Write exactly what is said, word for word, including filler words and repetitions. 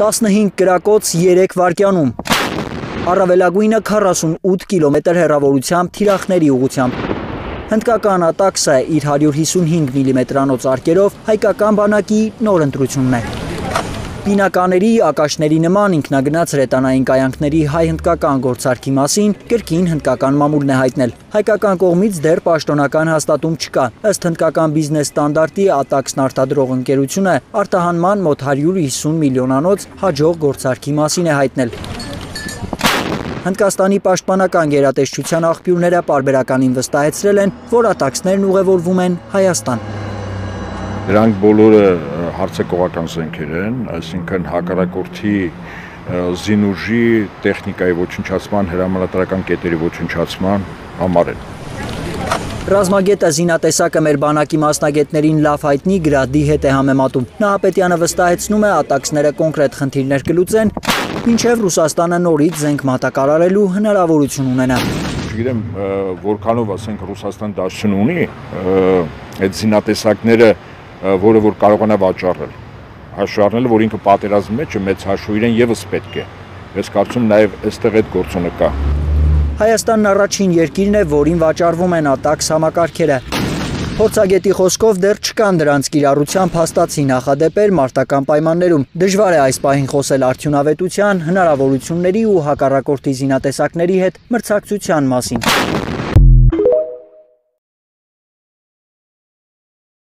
տասնհինգ կրակոց երեք վայրկյանում։ Առավելագույնը քառասունութ կիլոմետր հեռավորությամբ թիրախների ուղղությամբ։ Հնդկական ատաքսը իր հարյուր հիսունհինգ միլիմետրանոց արկերով հայկական բանակի նոր ընտրությունն է։ Պինակաների, ակաշների նման ինքնագնաց հրետանային կայանքների հայ-հնդկական գործարքի մասին կրկին հնդկական մամուլն է հայտնել։ Հայկական կողմից դեռ պաշտոնական հաստատում չկա։ Ըստ հնդկական բիզնես ստանդարտի ատաքսն արտադրող ընկերությունը արտահանման մոտ հարյուր հիսուն միլիոնանոց հաջող գործարքի մասին է հայտնել։ Հնդկաստանի պաշտպանական գերատեսչության աղբյուրները պարբերականին վստահեցրել են, որ ատաքսներն ուղևորվում են Հայաստան։ Դրանք բոլորը հարձակողական զենքեր են, այսինքն հակառակորդի զինուժի, տեխնիկայի ոչնչացման, հրամանատարական կետերի ոչնչացման համար են։ Ռազմագետը զինատեսակը մեր բանակի մասնագետներին լավ հայտնի գրադի հետ է համեմատում։ Նահապետյանը վստահեցնում է, ատաքսները կոնկրետ խնդիրներ կլուծեն, մինչև Ռուսաստանը նորից զենք մատակարարելու հնարավորություն ունենա։ Չգիտեմ, որքանով ասենք Ռուսաստան դաշտություն ունի, այդ զինատեսակները, որը որ կարողանա վաճառել, հաշվի առնելով, որ ինքը պատերազմի մեջ է, մեծ հաշվով իրեն եւս պետք է։ Ես կարծում նաև այստեղ այդ գործոնը կա։ Հայաստանն առաջին երկիրն է, որին վաճառվում են ատաքս համակարգերը։ Փորձագետի խոսքով դեռ չկան դրանց կիրառությամբ հաստատի նախադեպեր մարտական պայմաններում։ Դժվար է այս պահին խոսել արդյունավետության, հնարավորությունների ու հակառակորդի զինատեսակների հետ մրցակցության մասին։